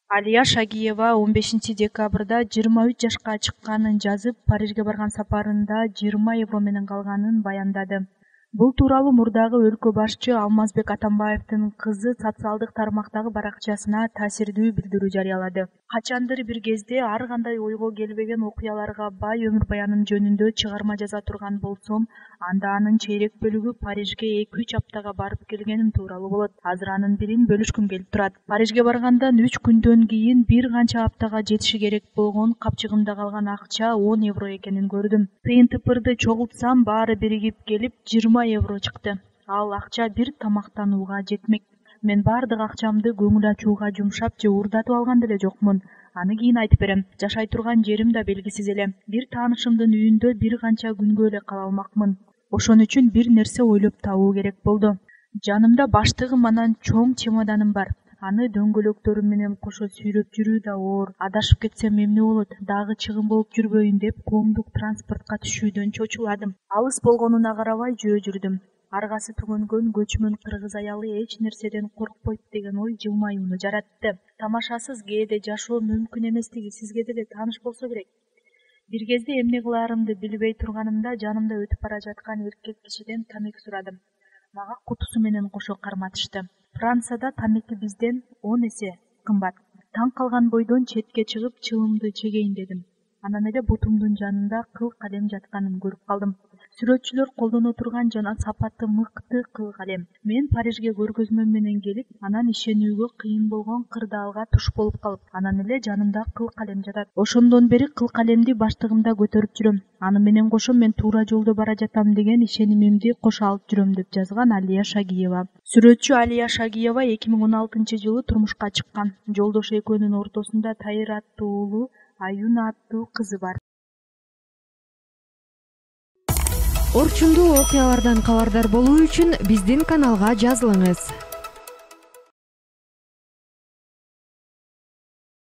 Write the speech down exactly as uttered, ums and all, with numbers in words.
Алия Шагиева он бешинчи декабрда жыйырма үч жашка чыкканын жазып, Парижге барган сапарында жыйырма евро менен калганын баяндады. Бул тууралуу мурдагы өлкө башчы Алмазбек Атамбаевдин кызы социалдык тармактагы баракчасына таасирдүү билдирүү жарыялады. Качандыр бир кезде ар кандай ойго келбеген окуяларга бай өмүр баянын жөнүндө чыгарма жаза турган болсом, анда анын чейрек бөлүгү Парижге эки үч аптага барып келгеним тууралуу болот. Азыр анын бирин бөлүшкүм келип турат. Парижге баргандан үч күндөн кийин бир канча аптага жетиши керек болгон капчыгымда калган акча он евро экенин көрдүм. Тыйын-тыпырды чогултсам баары биригип келип жыйырма евро чыкты. Ал акча бир тамактанууга жетмек. Мен баардык акчамды көңүл ачууга жумшап же уурдатып алган деле жокмун. Аны кийин айтып берем. Жашай турган жерим да белгисиз эле. Бир таанышымдын үйүндө бир канча күнгө эле кала алмакмын. Ошон үчүн бир нерсе ойлоп табуу керек болду. Жанымда баштыгым анан чоң чемоданым бар. Аны дөңгөлөктөрүм менен кошо сүйрөп жүрүү да оор. Адашып кетсем эмне болот? Дагы чыгым болуп жүрбөйүн деп коомдук транспортко түшүүдөн чочуладым. Алыс болгонуна карабай жөө жүрдүм. Аргасы түгөнгөн көчмөн кыргыз аялы эч нерседен коркпойт деген ой жылмаюуну жаратты. Тамашасыз кээде жашоо мүмкүн эместиги сизге деле тааныш болсо керек. Бир кезде эмне кылаарымды билбей турганымда жанымда өтүп бара жаткан эркек кишиден тамеки сурадым. Мага кутусу менен кошо карматышты. Францияда тамеки бизден он эсе кымбат. Таң калган бойдон четке чыгып чылымды чегейин дедим. Анан эле бутумдун жанында кыл калем жатканын көрүп калдым. Сүрөтчүлөр колдоно турган жана сапаты мыкты кыл калем. Мен Парижге көргөзмө менен келип, анан ишенүүгө кыйын болгон кырдаалга туш болуп калып, анан эле жанымда кыл калем жатат. Ошондон бери кыл калемди баштыгымда көтөрүп жүрөм. Аны менен кошо мен туура жолдо бара жатам деген ишенимимди кошо алып жүрөм, деп жазган Алия Шагиева. Сүрөтчү Алия Шагиева эки миң он алтынчы жылы турмушка чыккан. Жолдошу экөөнүн ортосунда Тайыр аттуу уулу, Аюна аттуу кызы бар. Орчундуу окуялардан кабардар болуу үчүн биздин каналга жазылыңыз.